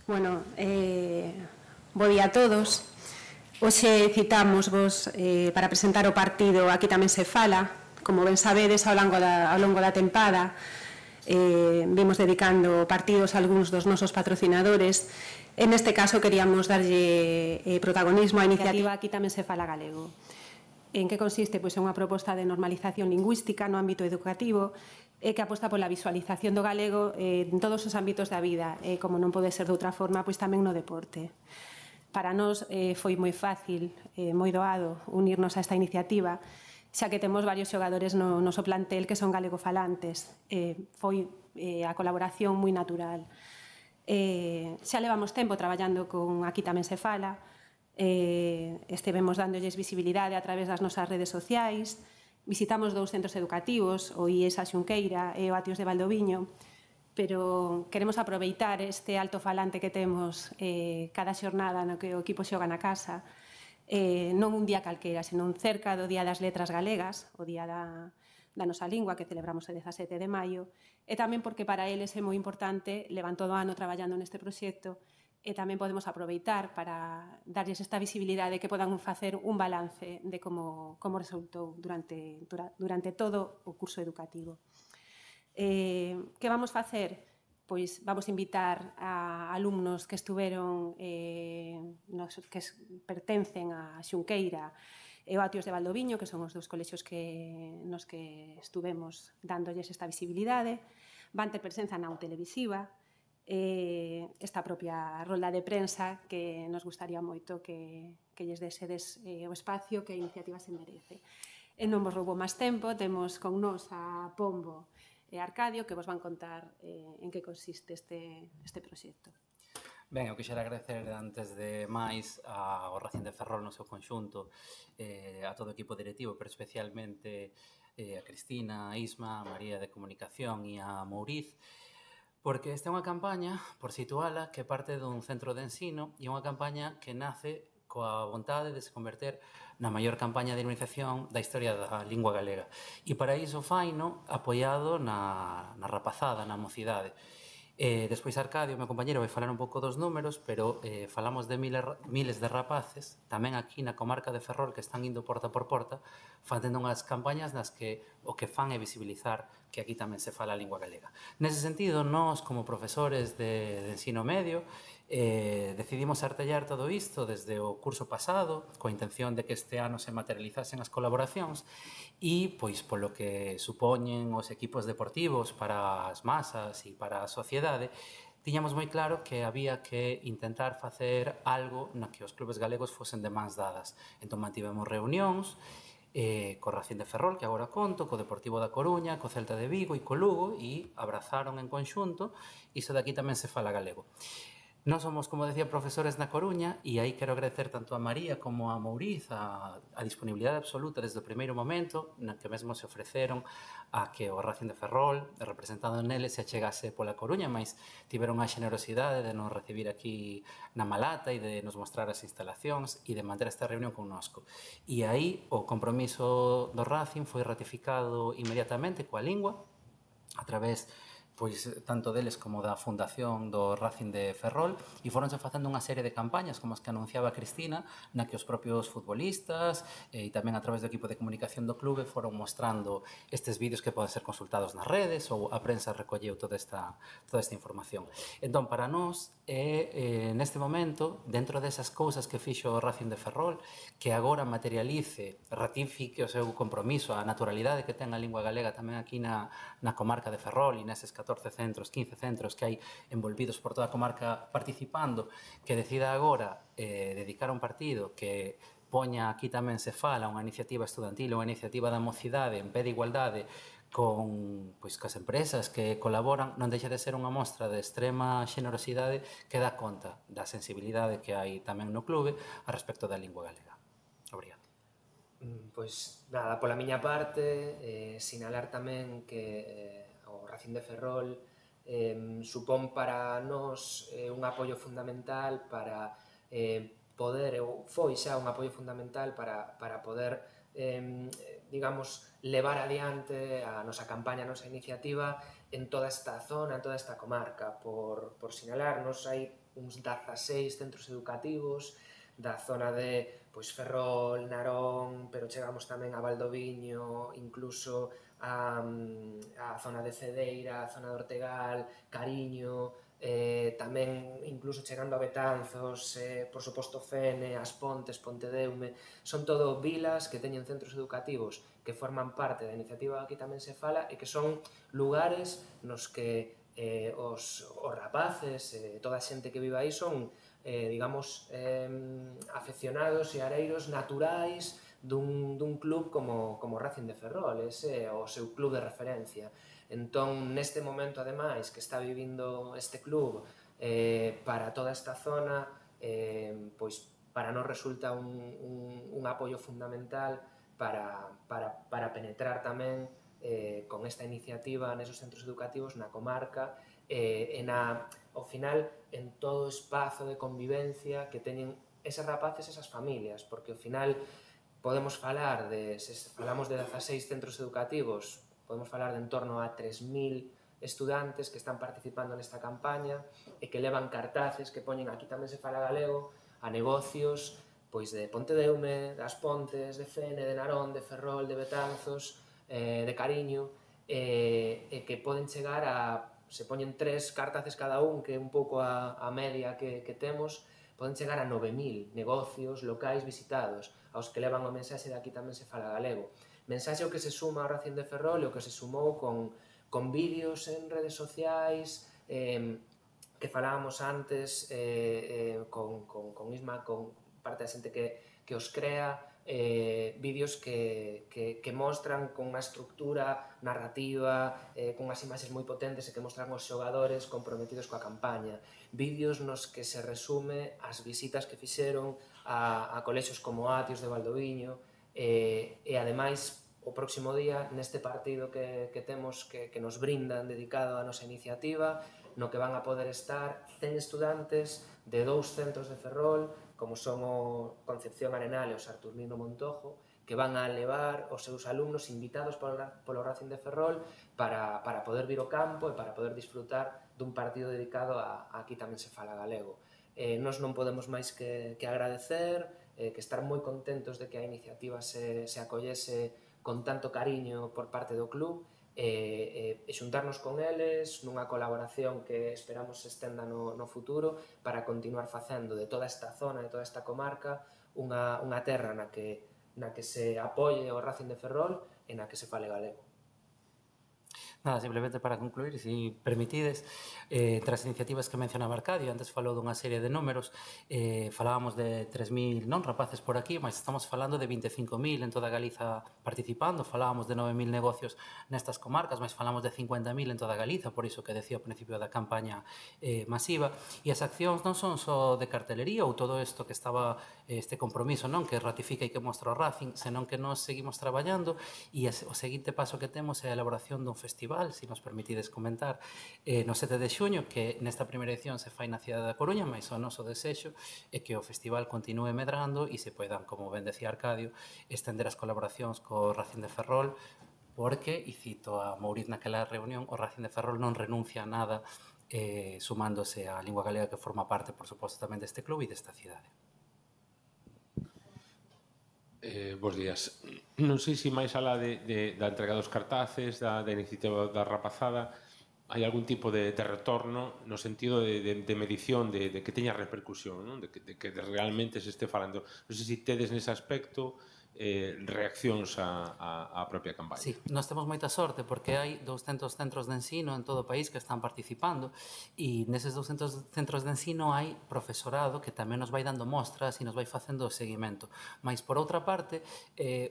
Bueno, bo día a todos. Hoxe citamos vos para presentar o partido Aquí tamén se fala. Como ben sabedes, ao longo da tempada vimos dedicando partidos a algúns dos nosos patrocinadores. En este caso queríamos darlle protagonismo á iniciativa Aquí tamén se fala galego. En que consiste? Pois é unha proposta de normalización lingüística no ámbito educativo que aposta pola visualización do galego en todos os ámbitos da vida, como non pode ser de outra forma, pois tamén no deporte. Para nós foi moi fácil, moi doado, unirnos a esta iniciativa, xa que temos varios xogadores no noso plantel que son galegofalantes. Foi a colaboración moi natural. Xa levamos tempo traballando con Aquí tamén se fala, estivemos dándolles visibilidade a través das nosas redes sociais, visitamos 2 centros educativos, o IES a Xunqueira e o Atios de Valdoviño, pero queremos aproveitar este altofalante que temos cada xornada no que o equipo xoga na casa, non un día calquera, senón cerca do Día das Letras Galegas, o Día da nosa lingua, que celebramos o 17 de maio, e tamén porque para eles é moi importante, levan todo o ano traballando neste proxecto, e tamén podemos aproveitar para darlles esta visibilidade que podan facer un balance de como resultou durante todo o curso educativo. Que vamos facer? Pois vamos invitar a alumnos que estuveron, que pertencen a Xunqueira e o Atios de Valdoviño, que son os 2 colexios nos que estuvemos dándolles esta visibilidade. Van ter presenza na televisiva, esta propia rolda de prensa que nos gustaría moito que lles desedes o espacio que a iniciativa se merece. E non vos roubo máis tempo, temos con nos a Pombo e Arcadio que vos van contar en que consiste este proxecto. Ben, eu quixera agradecer antes de máis ao Racing de Ferrol no seu conxunto, a todo o equipo directivo, pero especialmente a Cristina, a Isma, a María de Comunicación e a Mouriz, porque esta é unha campaña, por situala, que parte dun centro de ensino e unha campaña que nace coa vontade de se converter na maior campaña de dinamización da historia da lingua galega. E para iso faino apoiado na rapazada, na mocidade. Despois Arcadio, o meu compañero, vai falar un pouco dos números, pero falamos de miles de rapaces, tamén aquí na comarca de Ferrol, que están indo porta por porta, facendo unhas campañas nas que o que fan é visibilizar que aquí tamén se fala a lingua galega. Nese sentido, nós, como profesores de ensino medio, decidimos artellar todo isto desde o curso pasado, coa intención de que este ano se materializasen as colaboracións e, pois, polo que supoñen os equipos deportivos para as masas e para a sociedade, tiñamos moi claro que había que intentar facer algo na que os clubes galegos fosen de mans dadas. Entón, mantivemos reunións co Racing de Ferrol, que agora conto, co Deportivo da Coruña, co Celta de Vigo e co Lugo, e abrazaron en conxunto iso de Aquí tamén se fala galego. Nós somos, como decía, profesores na Coruña e aí quero agradecer tanto a María como a Mouriz a disponibilidade absoluta desde o primeiro momento na que mesmo se ofreceron a que o Racing de Ferrol, representado neles, se achegase pola Coruña, mas tiveron a xenerosidade de nos recibir aquí na Malata e de nos mostrar as instalacións e de manter esta reunión connosco. E aí o compromiso do Racing foi ratificado inmediatamente coa lingua a través pois tanto deles como da fundación do Racing de Ferrol e foronse facendo unha serie de campañas como as que anunciaba Cristina na que os propios futbolistas e tamén a través do equipo de comunicación do clube foron mostrando estes vídeos que poden ser consultados nas redes ou a prensa recolleu toda esta información. Entón, para nós neste momento, dentro desas cousas que fixo o Racing de Ferrol, que agora materialice, ratifique o seu compromiso, a naturalidade que ten a lingua galega tamén aquí na comarca de Ferrol e neses 14 centros, 15 centros que hai envolvidos por toda a comarca participando, que decida agora dedicar un partido que poña Aquí tamén se fala, unha iniciativa estudantil, unha iniciativa da mocidade en pé de igualdade con as empresas que colaboran, non deixa de ser unha mostra de extrema xenerosidade que dá conta da sensibilidade que hai tamén no clube a respecto da lingua galega. Obrigado. Pois nada, pola miña parte, sinalar tamén que o Racing de Ferrol supón para nós un apoio fundamental para poder, ou foi xa un apoio fundamental para poder, digamos, levar adiante a nosa campaña, a nosa iniciativa en toda esta zona, en toda esta comarca. Por sinalarnos, hai uns 16 centros educativos, da zona de Ferrol, Narón, pero chegamos tamén a Valdoviño, incluso a zona de Cedeira, a zona de Ortegal, Cariño, tamén incluso chegando a Betanzos, por suposto Fene, As Pontes, Pontedeume, son todo vilas que teñen centros educativos que forman parte da iniciativa Aquí tamén se fala e que son lugares nos que os rapaces, toda a xente que vive aí son digamos, afeccionados e areiros naturais dun club como Racing de Ferrol, ese é o seu club de referencia. Entón, neste momento, ademais, que está vivindo este club para toda esta zona, pois para nós resulta un apoio fundamental para penetrar tamén con esta iniciativa nesos centros educativos na comarca e ao final en todo o espazo de convivencia que teñen eses rapaces e esas familias, porque ao final podemos falar se falamos de 16 centros educativos, podemos falar de en torno a 3.000 estudantes que están participando nesta campaña e que levan cartaces que poñen Aquí tamén se fala galego a negocios pois de Pontedeume, das Pontes, de Fene, de Narón, de Ferrol, de Betanzos, de Cariño, e que poden chegar a se poñen 3 cartaces cada un, que é un pouco a media que temos, poden chegar a 9.000 negocios locais visitados, aos que levan o mensaxe de Aquí tamén se fala galego. Mensaxe o que se suma ao Racing de Ferrol e o que se sumou con vídeos en redes sociais, que falábamos antes con Isma, con parte da xente que os crea, vídeos que mostran con unha estructura narrativa, con unhas imaxes moi potentes e que mostran os xogadores comprometidos coa campaña. Vídeos nos que se resume as visitas que fixeron a colexios como Atios de Valdoviño e ademais o próximo día neste partido que temos que nos brindan dedicado á nosa iniciativa, no que van a poder estar 100 estudantes de 2 centros de Ferrol, como son o Concepción Arenal e o Saturnino Montojo, que van a levar os seus alumnos invitados polo Racing de Ferrol para poder vir ao campo e para poder disfrutar dun partido dedicado a Aquí tamén se fala galego. Nós non podemos máis que agradecer, que estar moi contentos de que a iniciativa se acollese con tanto cariño por parte do club e xuntarnos con eles nunha colaboración que esperamos se estenda no futuro para continuar facendo de toda esta zona, de toda esta comarca, unha terra na que se apoie o Racing de Ferrol e na que se fale galego. Nada, simplemente para concluir, se permitides, entre as iniciativas que mencionaba Arcadio, antes falou dunha serie de números, falábamos de 3.000 rapaces por aquí, mas estamos falando de 25.000 en toda Galiza participando, falábamos de 9.000 negocios nestas comarcas, mas falamos de 50.000 en toda Galiza, por iso que decía ao principio da campaña masiva, e as accións non son só de cartelería ou todo isto que estaba este compromiso, non que ratifica e que mostra o Racing, senón que nós seguimos traballando e o seguinte paso que temos é a elaboración dun festival, se nos permitides comentar, no 7 de xuño, que nesta primeira edición se fai na cidade da Coruña, mas o noso desexo é que o festival continúe medrando e se poidan, como ben decía Arcadio, estender as colaboracións co Racing de Ferrol, porque, e cito a Mouriz naquela reunión, o Racing de Ferrol non renuncia a nada sumándose á lingua galega que forma parte, por suposto, tamén deste club e desta cidade. Bos días. Non sei se máis alá da entrega dos cartaces, da iniciativa da rapazada, hai algún tipo de retorno no sentido de medición, de que teña repercusión, non? De que realmente se este falando. Non sei se tedes nese aspecto reaccións á propia campaña. Sí, nós temos moita sorte porque hai 200 centros de ensino en todo o país que están participando e neses 200 centros de ensino hai profesorado que tamén nos vai dando mostras e nos vai facendo o seguimento. Mais, por outra parte,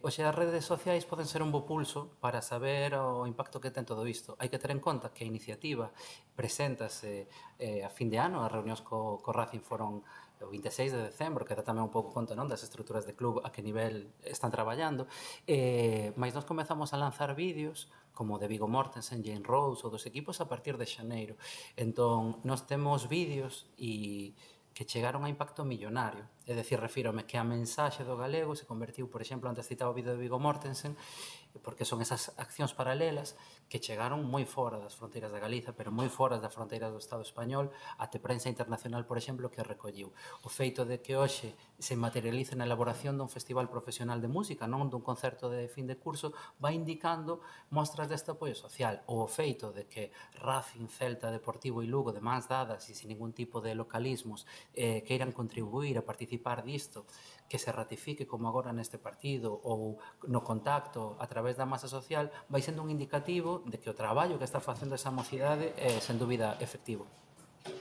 hoxe as redes sociais poden ser un bo pulso para saber o impacto que ten todo isto. Hai que ter en conta que a iniciativa preséntase a fin de ano, as reunións co Racing foron o 26 de decembro, que dá tamén un pouco conta das estruturas de club a que nivel están traballando, mas nós comezamos a lanzar vídeos como de Viggo Mortensen, Jane Rose ou dos equipos a partir de xaneiro. Entón, nós temos vídeos e que chegaron a impacto millonario. É dicir, refírome que a mensaxe do galego se convertiu, por exemplo, antes citaba o vídeo de Viggo Mortensen, porque son esas accións paralelas que chegaron moi fora das fronteiras da Galiza, pero moi fora das fronteiras do Estado español, até prensa internacional, por exemplo, que recolliu. O feito de que hoxe se materialice na elaboración dun festival profesional de música, non dun concerto de fin de curso, vai indicando mostras deste apoio social. O feito de que Racing, Celta, Deportivo e Lugo, de mans dadas e sin ningún tipo de localismos, queiran contribuir a participar disto, que se ratifique como agora neste partido ou no contacto a través da masa social, vai sendo un indicativo de que o traballo que está facendo esa mocidade é, sen dúbida, efectivo.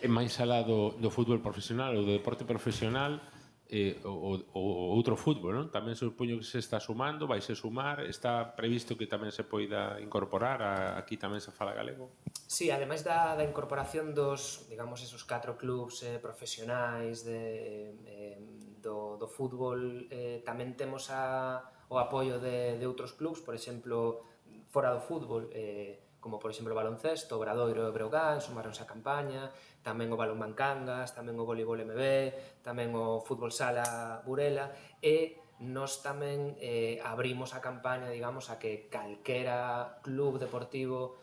E máis alá do fútbol profesional ou do deporte profesional, o outro fútbol, non? Tamén supoño que se está sumando, vai se sumar, está previsto que tamén se poida incorporar, aquí tamén se fala galego? Sí, ademais da incorporación dos, digamos, esos 4 clubs profesionais do fútbol, tamén temos o apoio de outros clubs, por exemplo, fora do fútbol, como por exemplo o baloncesto, o Obradoiro e o Breogán, sumaronse a campaña, tamén o balonmán Cangas, tamén o voleibol MB, tamén o fútbol sala Burela, e nós tamén abrimos a campaña, digamos, a que calquera club deportivo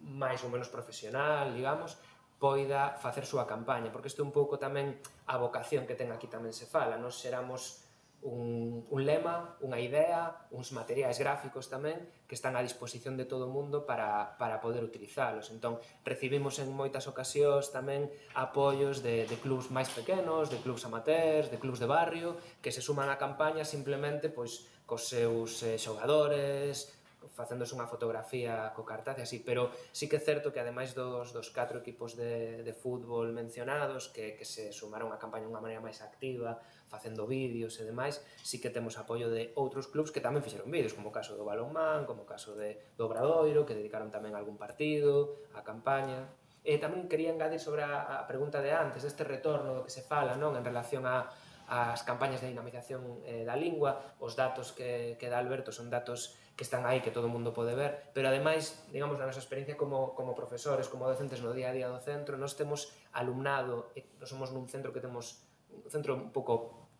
máis ou menos profesional, digamos, poida facer súa campaña, porque isto é un pouco tamén a vocación que ten aquí tamén se fala. Nós xeramos un lema, unha idea, uns materiais gráficos tamén que están á disposición de todo o mundo para poder utilizalos. Entón, recibimos en moitas ocasións tamén apoios de clubs máis pequenos, de clubs amateurs, de clubs de barrio, que se suman á campaña simplemente pois cos seus xogadores, facéndose unha fotografía co cartaz e así, pero sí que é certo que ademais dos 4 equipos de fútbol mencionados que se sumaron á campaña de unha maneira máis activa, facendo vídeos e demais, sí que temos apoio de outros clubs que tamén fixeron vídeos, como o caso do balonmán, como o caso do Obradoiro, que dedicaron tamén algún partido á campaña. E tamén quería engadir sobre a pregunta de antes, deste retorno que se fala, non, en relación ás campañas de dinamización da lingua. Os datos que dá Alberto son datos que están aí, que todo o mundo pode ver, pero ademais, digamos, na nosa experiencia como profesores, como docentes no día a día do centro, nós temos alumnado, nós somos nun centro que temos un centro un pouco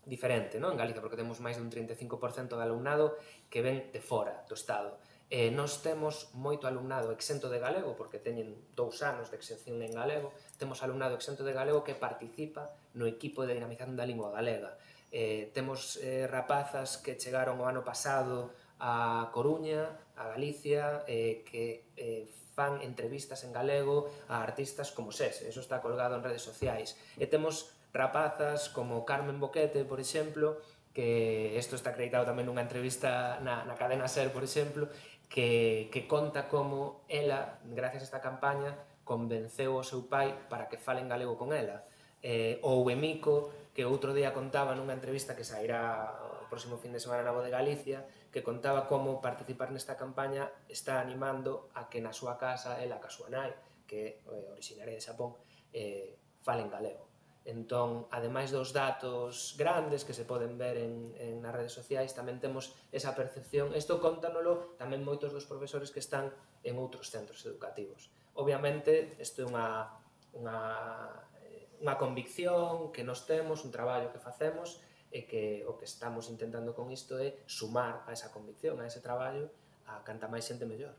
diferente, non, en Galicia, porque temos máis dun 35% de alumnado que ven de fora do Estado. Nós temos moito alumnado exento de galego, porque teñen 2 anos de exención en galego, temos alumnado exento de galego que participa no equipo de dinamización da lingua galega. Temos rapazas que chegaron o ano pasado a Coruña, a Galicia, que fan entrevistas en galego a artistas como SES, eso está colgado en redes sociais. E temos rapazas como Carmen Boquete, por exemplo, que isto está acreditado tamén nunha entrevista na cadena SER, por exemplo, que conta como ela, gracias a esta campaña, convenceu o seu pai para que falen galego con ela. Ou Emico, que outro día contaba nunha entrevista que sairá o próximo fin de semana na Voz de Galicia, que contaba como participar nesta campaña está animando a que na súa casa, ela, ca súa nai, que é originaria de Xapón, falen galego. Entón, ademais dos datos grandes que se poden ver nas redes sociais, tamén temos esa percepción. Isto contanolo tamén moitos dos profesores que están en outros centros educativos. Obviamente, isto é unha convicción que nos temos, un traballo que facemos, e que o que estamos intentando con isto é sumar a esa convicción, a ese traballo, a canta máis xente mellor.